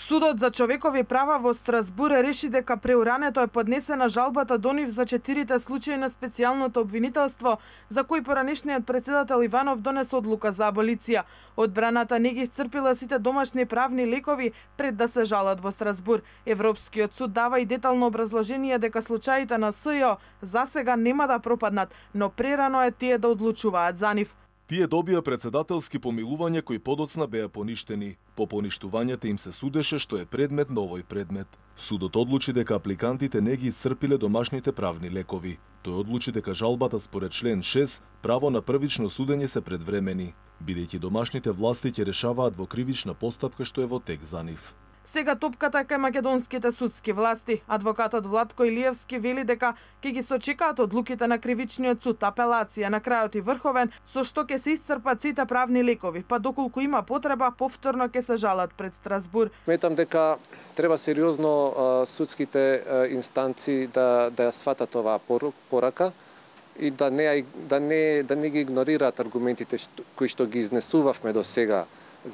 Судот за човекови права во Страсбур реши дека преурането е поднесена жалбата до нив за 4 случаи на специјалното обвинителство, за кои поранешниот председател Иванов донесе одлука за аболиција. Одбраната не ги исцрпила сите домашни правни лекови пред да се жалат во Страсбур. Европскиот суд дава и детално образложение дека случаите на СЈО засега нема да пропаднат, но прерано е тие да одлучуваат за нив. Тие добија председателски помилувања кои подоцна беа поништени. По поништувањата им се судеше што е предмет на овој предмет. Судот одлучи дека апликантите не ги исцрпиле домашните правни лекови. Тој одлучи дека жалбата според член 6 право на првично судење се предвремени, бидејќи домашните власти ќе решаваат во кривична постапка што е во тек за нив. Сега топката е кај македонските судски власти. Адвокатот Владко Илиевски вели дека ќе ги сочекаат одлуките на кривичниот суд, апелација, на крајот и врховен, со што ќе се исцрпат сите правни лекови, па доколку има потреба, повторно ќе се жалат пред Страсбур. Сметам дека треба сериозно судските инстанции да ја сватат оваа порака и да не ги игнорираат аргументите кои што ги изнесувавме до сега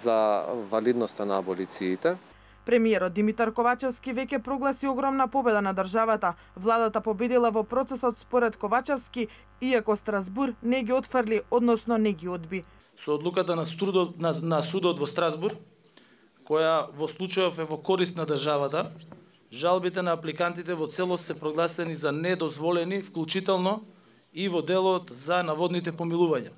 за валидноста на аболициите. Премиерот Димитар Ковачевски веќе прогласи огромна победа на државата. Владата победила во процесот според Ковачевски, иако Страсбур не ги отфрли, односно не ги одби. Со одлуката на судот во Страсбур, која во случајов е во корист на државата, жалбите на апликантите во целост се прогласени за недозволени, вклучително и во делот за наводните помилувања.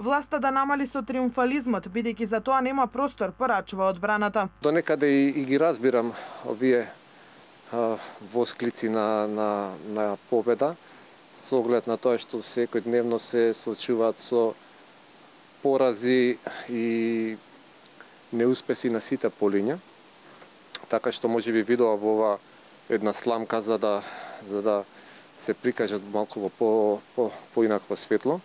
Власта да намали со триумфализмот, бидејќи за тоа нема простор, порачува одбраната. До некаде и ги разбирам овие восклици на победа, со оглед на тоа што секојдневно се соочуваат со порази и неуспеси на сите полиња. Така што можеби видоа во ова една сламка за да се прикажат малку во поинакво светло.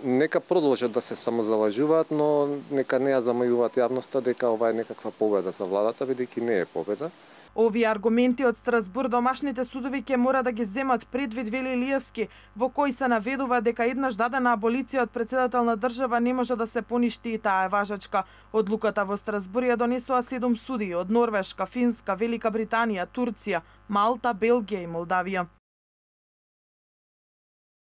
Нека продолжат да се самозалажуваат, но нека не ја замајуваат јавноста дека ова е некаква победа за владата, бидејќи не е победа. Овие аргументи од Страсбур домашните судови ќе мора да ги земат предвид, вели Илиевски, во кој се наведува дека еднаш дадена аболиција од председател на држава не може да се поништи и таа е важачка. Одлуката во Страсбур ја донесоа 7 судии од Норвешка, Финска, Велика Британија, Турција, Малта, Белгија и Молдавија.